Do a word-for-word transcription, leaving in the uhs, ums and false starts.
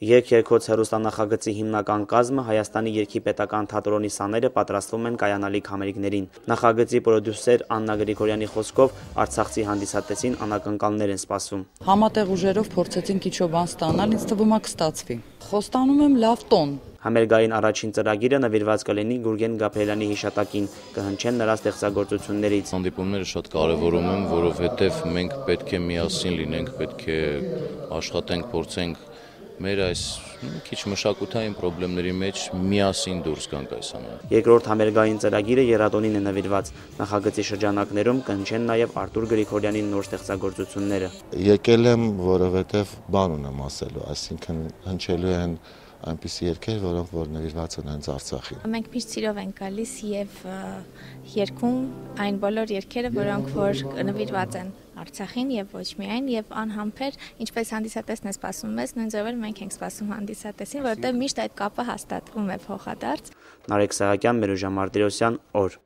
Երգ-երգոց հեռուստանախագծի հիմնական կազմը Հայաստանի երգի պետական թատրոնի սաները պատրաստվում են կայանալիք համերգներին։ Նախագծի պրոդյուսեր Աննա Գրիգորյանի խոսքով արցախցի հանդիսատեսին անակնկալներ են սպասվում։ Համատեղ ուժերով փորձեցինք ինչ-որ բան ստանալ, ինձ թվում է կստացվի։ Խոստանում եմ լավ տոն։ Համերգային առաջին ծրագիրը նվիրված կլինի Գուրգեն Գաբրիելյանի հիշատակին, կհնչեն նրա ստեղծագործություններից։ Հանդիպումները շատ կարևորում եմ, որովհետև մենք պետք է միասին լինենք, պետք է աշխատենք, փորձենք մեր այս քիչ մշակութային խնդիրների մեջ միասին դուրս գանք այս ամենը։ Երկրորդ համերգային ծրագիրը եռադոնին է նվիրված։ Նախագծի շրջանակներում կհնչեն նաև Արտուր Գրիգորյանի նոր ստեղծագործությունները։ Եկել եմ, որովհետև բան ունեմ ասելու, այսինքն հնչելու են այնպիսի երգեր, որոնք որ նվիրված են հենց Արցախին։ Մենք միշտ սիրով ենք գալիս եւ երգում այն բոլոր երգերը, որոնք որ նվիրված են Արցախին եւ ոչ միայն եւ անհամբեր, ինչպես հանդիսատեսն է սպասում մեզ, նույն ձևով մենք ենք սպասում հանդիսատեսին, որովհետեւ միշտ այդ կապը հաստատվում է փոխադարձ։ Նարեկ Սահակյան, Մերուժա Մարտիրոսյան, օր։